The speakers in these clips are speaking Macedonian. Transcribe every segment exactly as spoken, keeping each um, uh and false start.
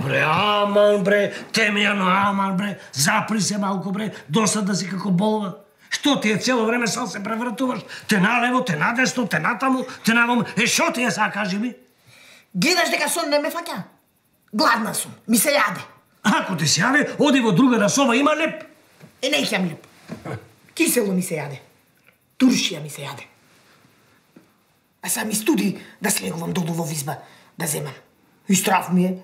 бре, аман бре, Темјано, аман бре, запри се малку бре, досада си како болва. Што ти е цело време сал се превртуваш? Те налево, те надесно, те натаму, те навам. Е, шо ти е са, кажи ми? Гледаш дека сон не ме фаќа? Гладна сум, ми се јаде. Ако ти се јаде, оди во друга соба, има леп. Е, не ќам леп. Кисело ми се јаде. Туршија ми се јаде. А са ми студи да слегувам долу во визба, да земам. И страв ми е.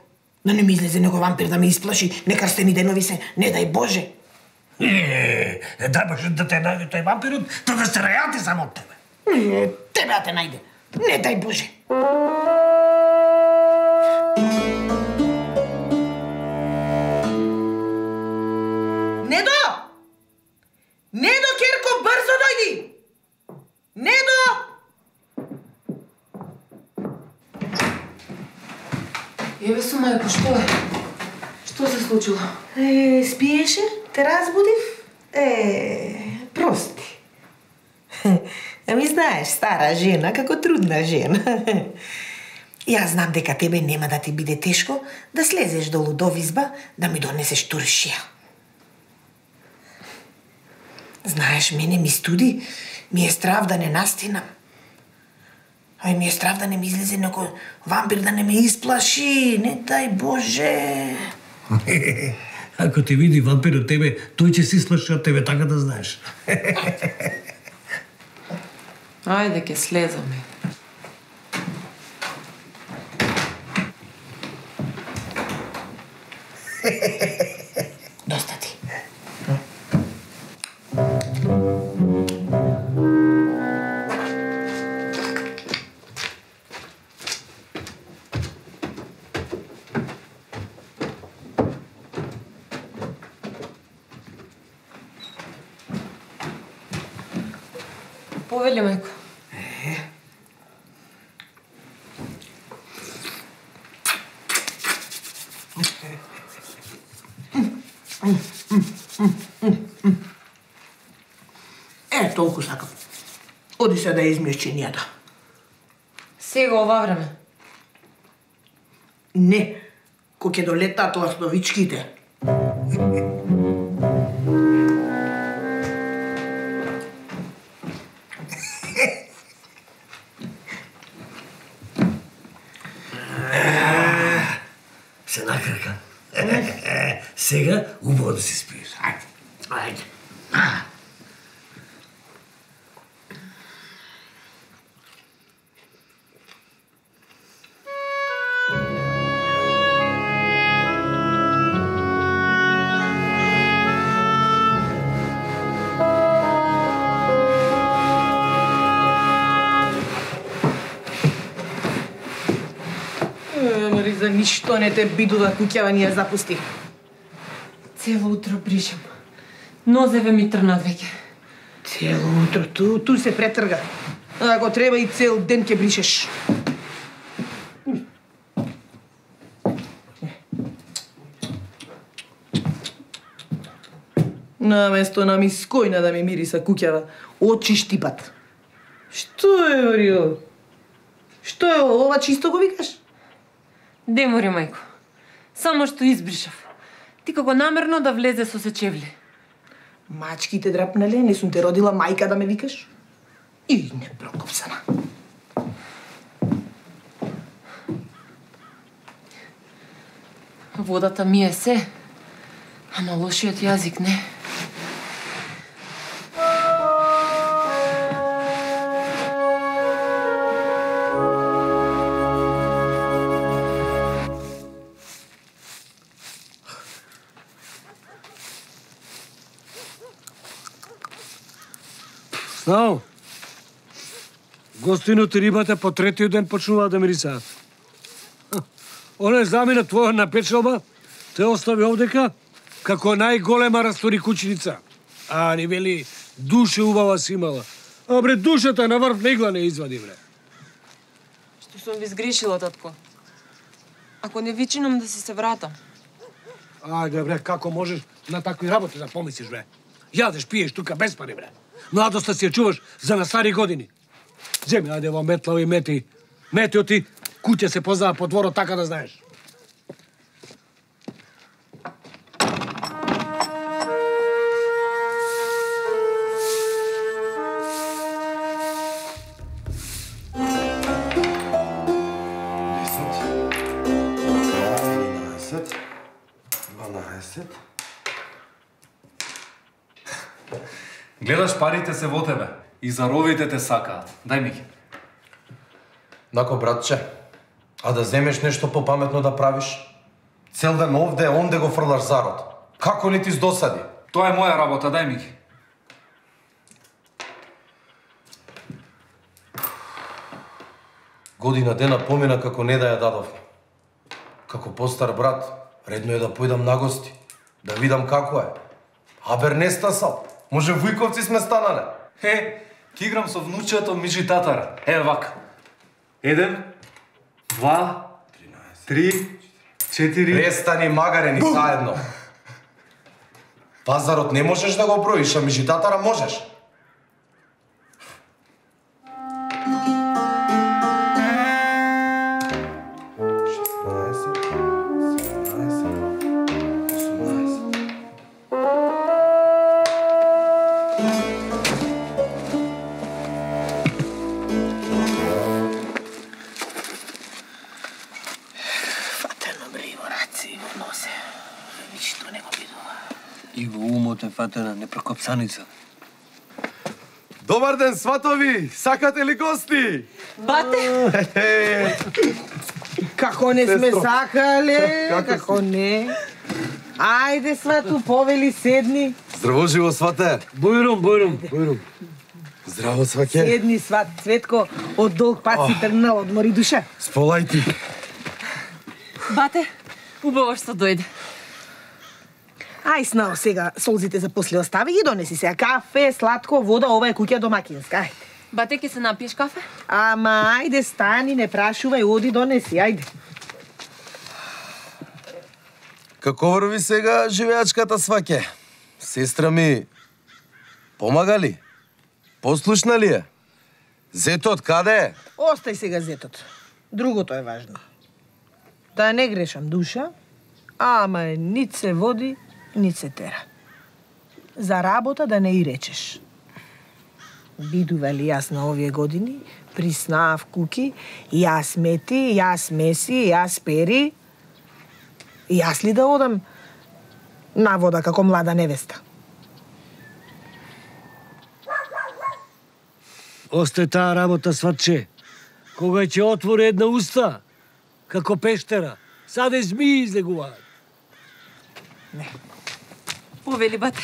Да не ми излезе него вампир да ме исплаши, некрстени денови се, не дај Боже. Е, дај Боже да те најде тој вампирот, та да се рајати само од тебе. Е, тебе да те најде. Не дај Боже. Недо! Недо, Керко, брзо дојди! Недо! Еве су, мајко, што е? Што се случило? Е, спиеше? Те разбудив? Е, прости. Ами знаеш, стара жена, како трудна жена. Јас знам дека тебе нема да ти биде тешко да слезеш долу до визба да ми донесеш туршија. Знаеш, мене ми студи, ми е страв да не настинам. Ај ми е страв да не ми излезе некој вампир да не ме исплаши, не дај Боже. Ако ти види вампирот тебе, тој ќе се исплаши од тебе, така да знаеш. Ајде, ке слезаме. Доста ти. Повели, мајко. Е, толку сакам. Оди се да измиеш чинијата. Сега ова време. Не, ко ќе долетат ластовичките. Се накрка. Сега убаво да се спиеш. Ајде. Ајде. За ништо не те бидува куќава ни ја запусти. Цело утро бришам. Нозеве ми трнат веќе. Цело утро, ту, ту се претрга. Ако треба и цел ден ќе бришеш. Наместо на мискојна да ми мириса куќава, очи штипат. Што е, Орио? Што е ова, чисто го викаш? Демори, мајко. Само што избришав. Ти како намерно да влезе со сечевли. Мачките драпнале, не сум те родила мајка да ме викаш? И не прокопсана. Водата ми е се, ама лошиот јазик не. Знao, гостинот и рибата по третиот ден почнуваат да мирисаат. Оне замина твоја на печалба те остави овдека како најголема растори кучиница. А ни вели, душе убава си имала. А бре, душата на врв игла не извади, бре. Што сум ви сгрешила, татко? Ако не вичинам да си се вратам. Ајде, бре, како можеш на такви работи да помислиш, бре? Јадеш, пиеш тука без пари, бре. Младоста си ја чуваш за на стари години. Земи, ајде во метлави мети. Метио ти, куќа се познава по дворот, така да знаеш. седемнаесет. Гледаш, парите се во тебе и заровите те сакаат. Дај ми ги. Нако, братче, а да земеш нешто попаметно да правиш? Цел ден овде, онде го фрлаш зарод. Како не ти здосади? Тоа е моја работа, дај ми ги. Година дена помина како не да ја дадовме. Како постар брат, редно е да појдам на гости, да видам како е. Абер не стасал. Може вујковци сме станале. Е, ки играм со внучето Миджи татара. Е, вака. Еден, два, три, четири... Престани магарени заедно. Пазарот не можеш да го броиш, а Миджи татара можеш. И во умот е фатена непрекопсаница. Добар ден, сватови! Сакате ли гости? Бате! Како не сме сакале, Како како не. Ајде, свату, повели, седни. Здраво живо, свате! Бојрум, бојрум, бојрум. Здраво, сваке! Седни, сват, Цветко, од долг пат си тргнал, одмори душа. Сполај ти! Бате, убаво што дојде. Ај, снао сега, солзите за после остави ги донеси сега. Кафе, сладко, вода, ова е куќа домакинска, ајде. Бате, ке се напиеш кафе? Ама, ајде, стани, не прашувај, оди донеси, ајде. Како врви сега живеачката, сваке? Сестра ми помага ли? Послушна ли е? Зетот каде е? Остај сега зетот. Другото е важно. Да не грешам душа, ама нит се води, нит се тера. За работа да не и речеш. Бидували јас на овие години, приснаав куки, јас мети, јас меси, јас пери. Јас ли да одам на вода како млада невеста? Осте таа работа, сватче. Кога ќе отвори една уста, како пештера, саде змии излегуваат. Повели, бате.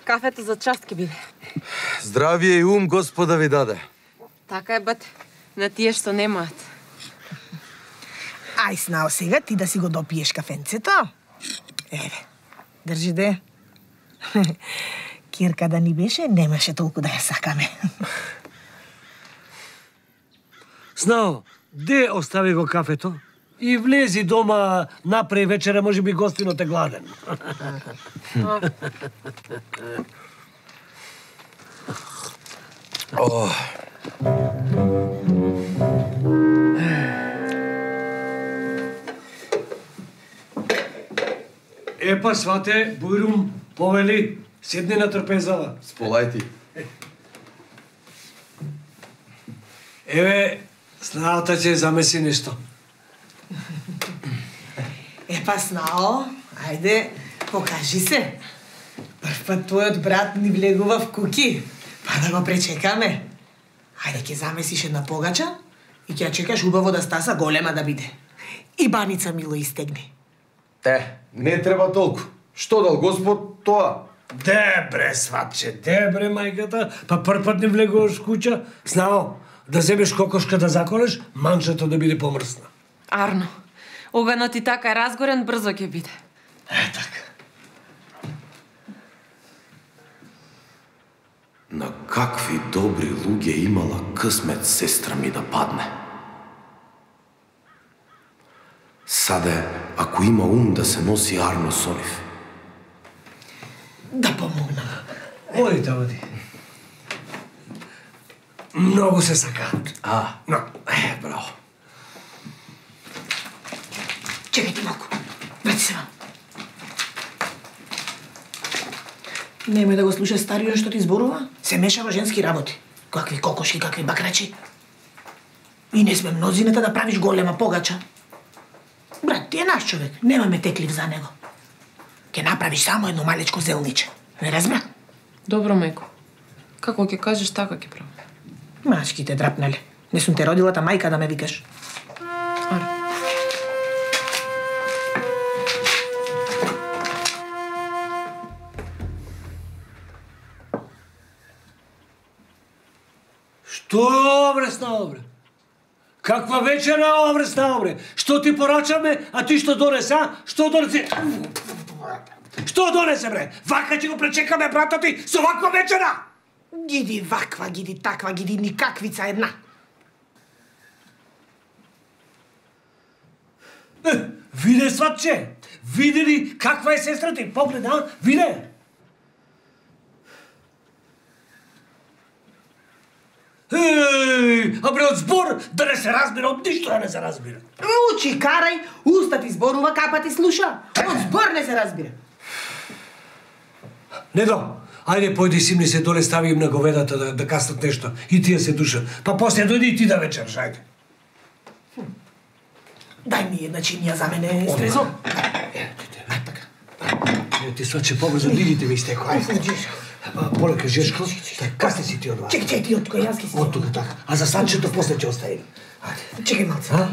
Кафето за част ке биде. Здравие и ум Господа ви даде. Така е, бате. На тие што немаат. Ај, снао сега ти да си го допиеш кафенцето. Еве, држи де. Кирка да ни беше, немаше толку да ја сакаме. Знао, де остави го кафето? И влези дома, напре вечера, може би гостинот е гладен. О. Епа, свате, Бојрум, повели, седни на трпезава. Сполај ти. Еве, снаата ќе замеси нешто. Епа, снао, ајде, покажи се. Прв пат твојот брат ни влегува в куки, па да го пречекаме. Ајде, ќе замесиш една погача и ќе ја чекаш убаво да стаса, голема да биде. И баница мило истегни. Те, не треба толку. Што дал Господ, тоа? Дебре, сватче, дебре, мајката, па прв пат не влегуваш в куќа, знао, да земеш кокошка да заколеш, манчето да биде помрсна. Арно, оганот и така е разгорен, брзо ќе биде. Е, така. На какви добри луѓе имала късмет сестра ми да падне. Саде, ако има ум да се носи Арно со нив. Да помогнам. Одите, оди. Многу се сакаат. А, Но, е, браво. Чекај ти малку. Врати се вам. Немој да го слуша стариот што ти зборува. Се меша во женски работи. Какви кокошки, какви бакрачи. И не сме мнозината да правиш голема погача. Брат, ти е наш човек. Немаме теклив за него. Ке направиш само едно малечко зелниче. Не разбра? Добро, мајко. Како ќе кажеш, така ќе правам. Машки те драпнале. Не сум те родила та мајка да ме викаш. Аре. Што обре става, бре? Каква вечера обре става, бре? Што ти порачаме, а ти што донесе, а? Што донесе? Што донесе, бре? Вака ќе го пречекаме брата ти со ваква вечера? Гиди ваква, гиди таква, гиди никаквица една. Е, виде, сватче? Види ли каква е сестра ти? Поглед, а? Виде? Еј, а бре, од збор да не се разбира, од ништо да не се разбира. Учи, карај, уста ти зборува, капа ти слуша. Од збор не се разбира. Недо, ајде појди симни се доле, стави им на говедата да, да каснат нешто. И тие се душа. Па после дојди и ти да вечераш, ајде. Дај ми една чинија за мене, Стрезо. Ај така. Е, ти сваче побрзо, дигите ми истеко, ајде. Полека, Жешко, касни си ти од вас. Чекай, чекай, ти од кој јас ке си. Од тука така. А за санчето после ќе оставим. Ајде. Чекай малце. А?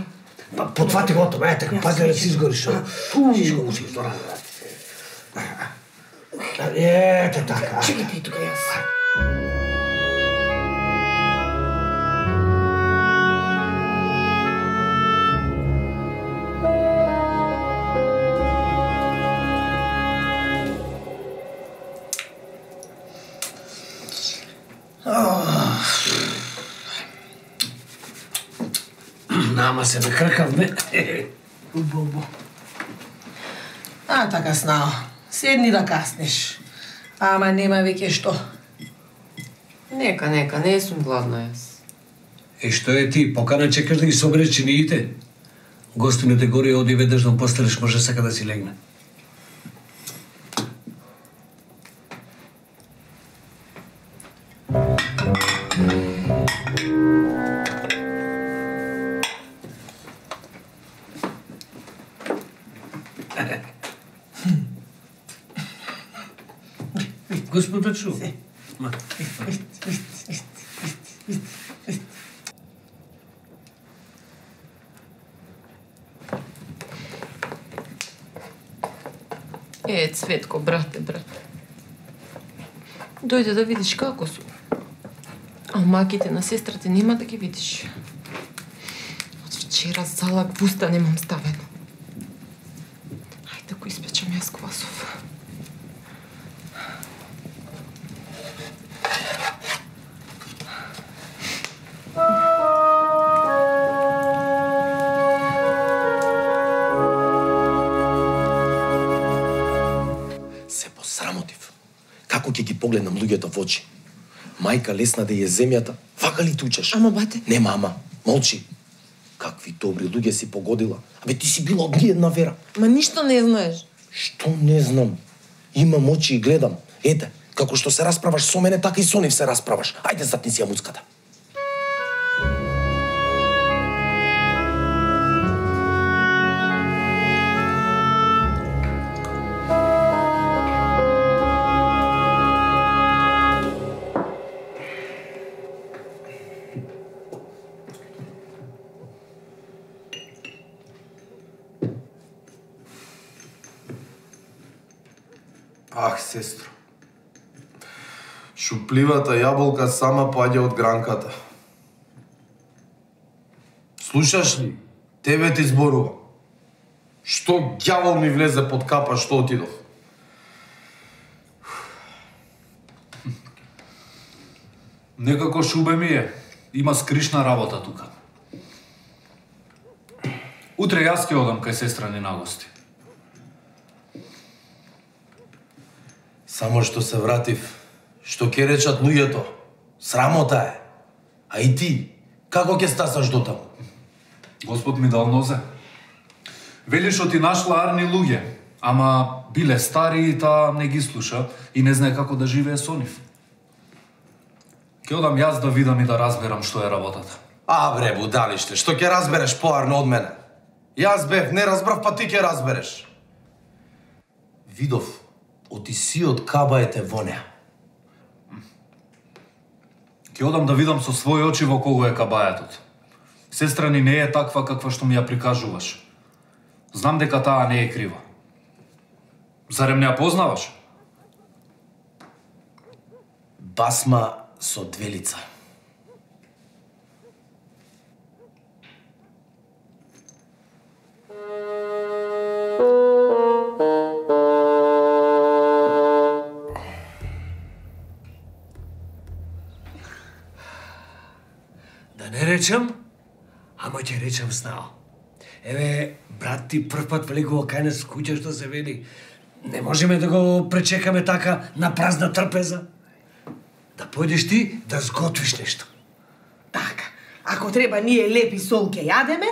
Па потвати го тоа, ајде така, пази да си изгориш. Шишко му си изгора. Ете така. Чекай ти тука јас. Нама се накркавме. Убо, убо. А, така снao. Седни да каснеш. Ама нема веќе што. Нека, нека, не сум гладна јас. Е, што е ти? Покана чекаш да ги собереш чиниите? Гостините горе оди веднаш да постелеш, може сака да си легне. Господа чу. Е, Цветко, брате, брате. Дојде да видиш како сум. А маките на сестрата нема да ги видиш. Од вчера залак буста немам ставено. Ајде ако испечам јас квасов. Како ќе ги погледнам луѓето во очи? Мајка лесна да е земјата, вака ли тучеш? Ама бате. Не, мама, молчи. Какви добри луѓе си погодила. Абе ти си била од ги една вера. Ма ништо не знаеш. Што не знам? Имам очи и гледам. Ете, како што се расправаш со мене, така и со нив се расправаш. Ајде затни си ја муцката. Ах, сестро. Шупливата јаболка сама поаѓа од гранката. Слушаш ли? Тебе ти зборува. Што ѓавол ми влезе под капа што отидов? Некако шубе ми е. Има скришна работа тука. Утре јас ќе одам кај сестра ни на гости. Само што се вратив, што ќе речат луѓето, срамота е. А и ти, како ќе стасаш до таму? Господ ми дал нозе. Вели што ти нашла арни луѓе, ама биле стари и таа не ги слуша и не знае како да живее со нив. Ќе одам јас да видам и да разберам што е работата. А бре, будалиште, што ќе разбереш поарно од мене? Јас бев, не разбрав, па ти ќе разбереш. Видов, оти сиот кабаете во неа. Ќе одам да видам со своји очи во кого е кабајатот. Сестра ни не е таква каква што ми ја прикажуваш. Знам дека таа не е крива. Зарем не ја познаваш? Басма со две лица. Да не речам, ама ќе речам снao. Еве, брат ти прв пат влегува кај нас куќа што се вели. Не можеме да го пречекаме така на празна трпеза. Да појдеш ти да сготвиш нешто. Така, ако треба ние лепи сол ќе јадеме,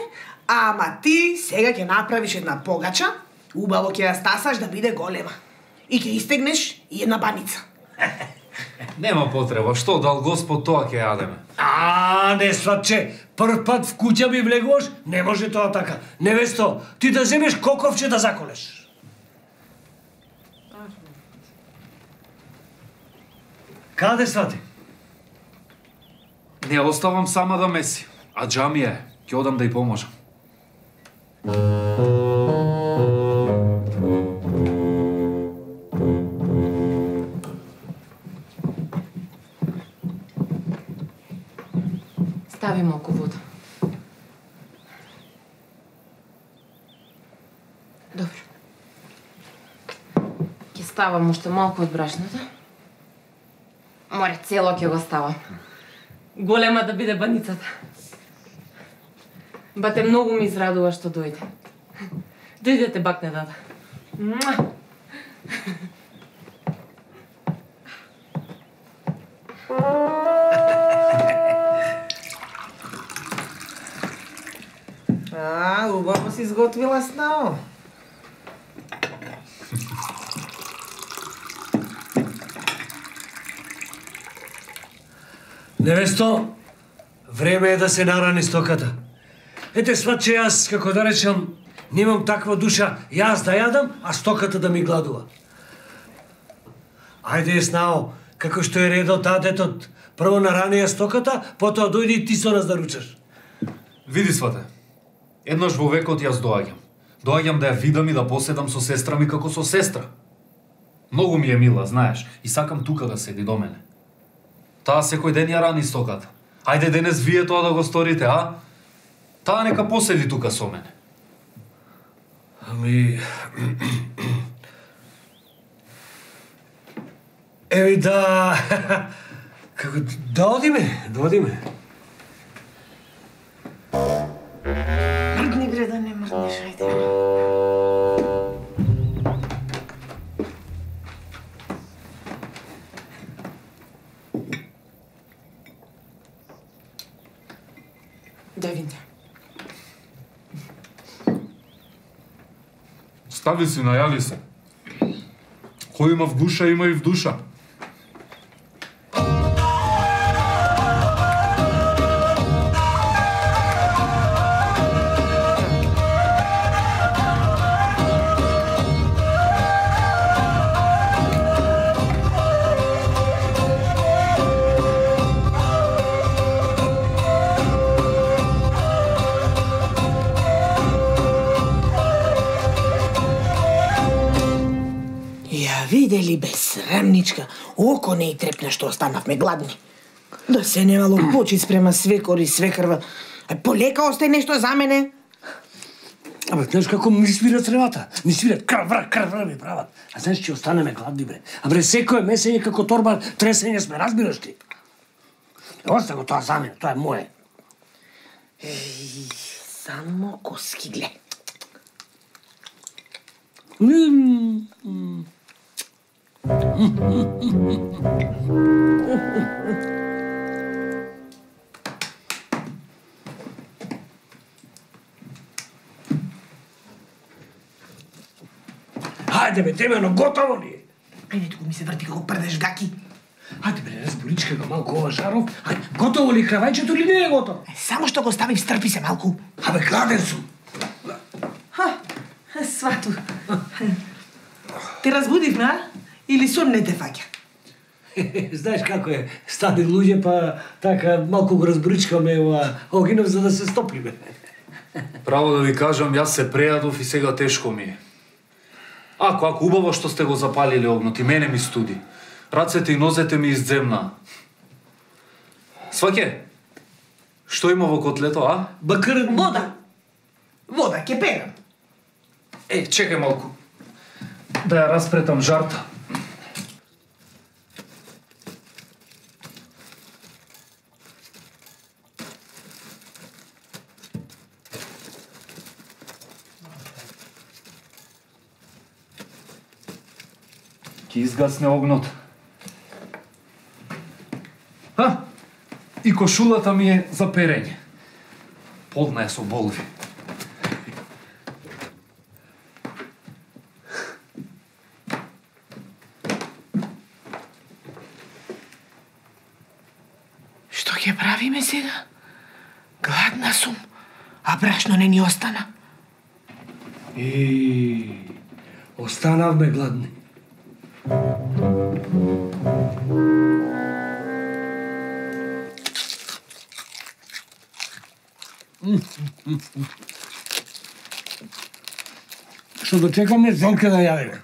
ама ти сега ќе направиш една погача, убаво ќе ја стасаш да биде голема. И ќе истегнеш и една баница. Нема потреба, што дал Господ тоа ќе јадеме. А, не сватче, прв пат в куќа ми влегуваш, не може тоа така. Невесто, ти да земеш коковче да заколеш. Каде свати? Не оставам сама да меси, а џамија е, ќе одам да ја поможам. Стави малку вода. Добро. Ќе ставам уште малку од брашното. Море, цело ќе го ставам. Голема да биде баницата. Бате, многу ми израдува што дојде. Дојдете бакне, дада. Муа! А, убаво си изготвила снao. Невесто, време е да се нарани стоката. Ете, сватче, јас, како да речам, немам таква душа, јас да јадам, а стоката да ми гладува. Ајде, снao, како што е редот татетот, прво нарани ја стоката, потоа дојди и ти со нас да ручаш. Види, свате, еднаш во векот јас доаѓам. Доаѓам да ја видам и да поседам со сестра ми како со сестра. Многу ми е мила, знаеш, и сакам тука да седи до мене. Таа секој ден ја рани стоката. Ајде денес вие тоа да го сторите, а? Таа нека поседи тука со мене. Ами... Еви да... Како... Да одиме, да одиме. Мрдни бре да не мрднеш, ајде. Да види. Стави си, најави се. Кој има в душа, има и в душа. Видели безсрамничка, око не и трепна што останавме гладни. Да се немало почит спрема свекор и свекрва. Е, полека остај нешто за мене. Абе, знаеш како ми свира цревата? Ми свират крвра, крвра ми прават. А знаеш, че останеме гладни, бре. А бре, секој месење како торба тресење сме, разбираш ти? Оста го тоа за мене, тоа е моје. Еј, само коски, гле. Хајде бе, темено, готово ли е? Ајде, туку ми се врти како прдеш гаки. Хајде бе, разборичка го малку ова жаров. Хајде, готово ли кравајчето или не е готово? Е, само што го ставив, стрпи се малку. Абе, гладен сум. Ха, свату. Те разбудив, на? Или сон не те фаќа? Знаеш како е, стани луѓе, па така малку го разбричкаме ова огинов за да се стопиме. Право да ви кажам, јас се прејадов и сега тешко ми е. Ако, ако убаво што сте го запалиле огнот и мене ми студи. Рацете и нозете ми изземна. Сваке, што има во котлето, а? Бакар... Вода. Вода, ќе пенам. Е, чекај малку. Да ја распретам жарта. Ќе изгасне огнот. А, и кошулата ми е за перење. Полна е со болви. Што ќе правиме сега? Гладна сум, а брашно не ни остана. И останавме гладни. Што да чекаме Зелка да јадеме.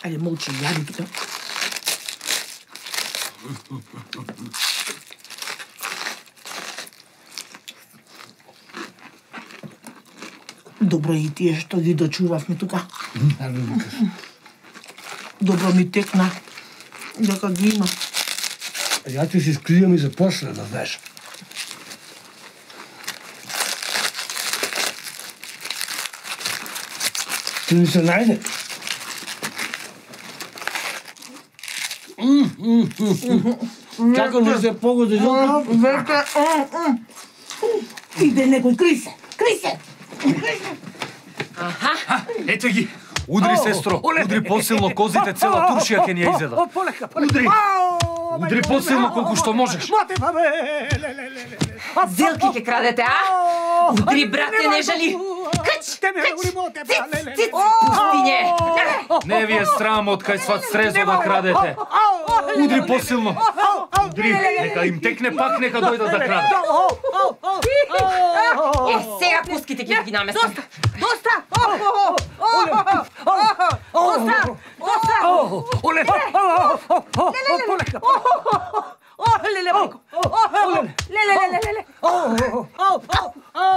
Ајде, молчи, јади тука. Добро и тие што ги дочувавме тука. Добро ми текна, дека ги има. Ја ти си скријам и за после, да знаеш. Ти ми се најде. Како не се погоди, Зелка? Верка, иде некој, кри се, кри се. Ете ги! Удри, сестро! Удри посилно козите, цела туршија ќе ни ја изеда. Полека, Удри! Удри посилно колку што можеш. Зелки ќе крадете, а? Удри, брате, не жали. Кач, кач, циц, циц, пустиње. Не ви е срам од кај сват срезо да крадете. Удри посилно. Удри, нека им текне пак, нека дојдат да крадат. Е, сега пуските ќе ги наместам. Доста! Доста! Доста! Оле! Полека! Oh, lele, Marco! Oh, lele, lele, lele! Oh, oh, oh,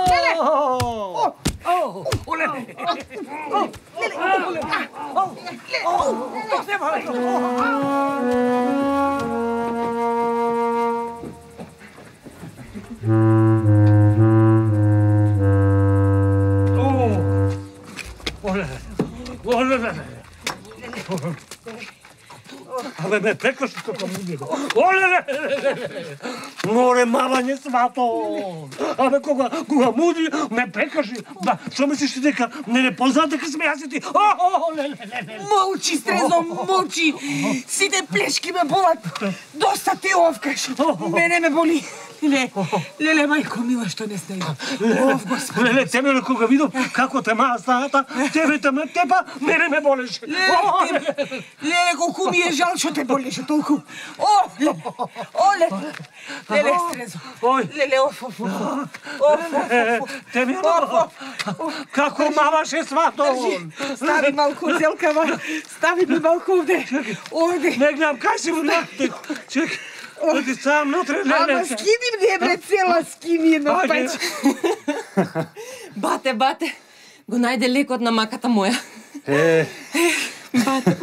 lele! Oh, oh, oh, lele! Oh, lele! Oh, oh, lele! Абе, ме пекаш како муѓе. Оле, море мавање свато. Абе, кога, кога муди, ме пекаш. Ба, што мислиш ти дека не не познат дека сме јас и ти? Оле, молчи, Стрезо, молчи. Сите плешки ме болат. Доста ти овкаш. Мене ме боли. Леле, леле, мајко мила, што не сте. Ов, Господи. Леле, тебе кога видов како те маа стајата, тебе те ме тепа, мене ме болеше. Леле, леле, колку ми е жал што те болеше толку. О, леле, о, леле, леле, Стрезо. Леле, оф, оф, оф, оф, те ми како маваше свато. Стави малку, Зелкава, стави ми малку овде. Овде. Не гледам, кај си му накте. Чекай. Оди сам натре, леле. Ама скини мне, бре, цела скини едно пач. Бате, бате, го најде лекот на маката моја. Е. Бате.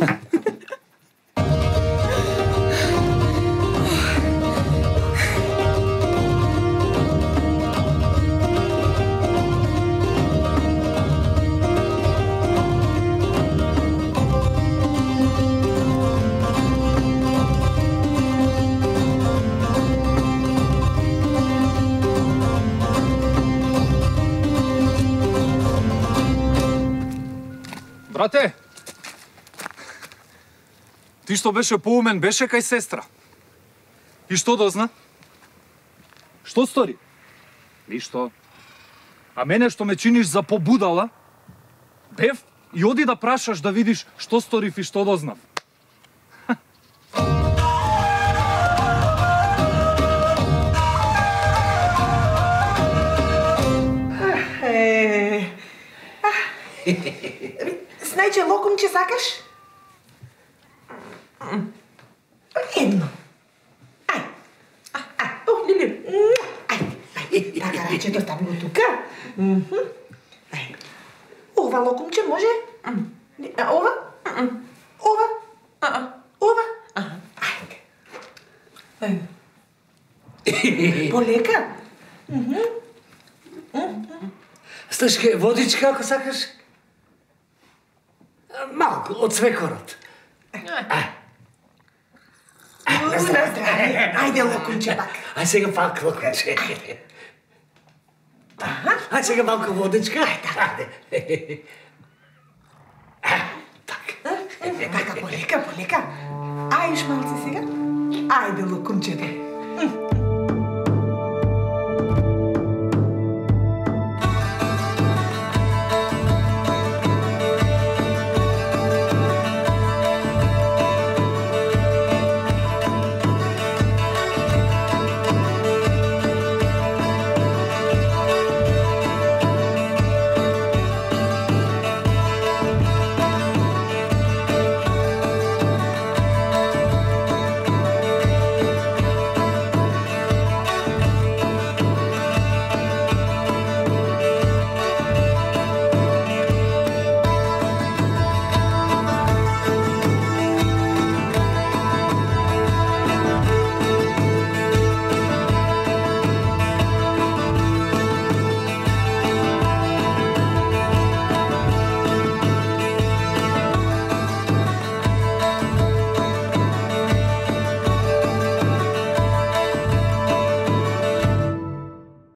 Брате, ти што беше поумен, беше кај сестра. И што дозна? Што стори? Ништо. А мене што ме чиниш за побудала? Бев и оди да прашаш да видиш што сторив и што дознав. Знајче локумче сакаш? Едно. Ај. Ај. О, Лили. Ај. Ај. Така рачето стави го тука. Ај. Ова локумче може? Ова? Ова? Ова? Ајде. Ајде. Полека? Слушке, водичка ако сакаш? Малку, од свекорот. Ајде, локумче пак. Ај сега пак локумче. Ај сега малку водичка. Ајде. Така, полека, полека. Ајш малце сега. Ајде, локумче.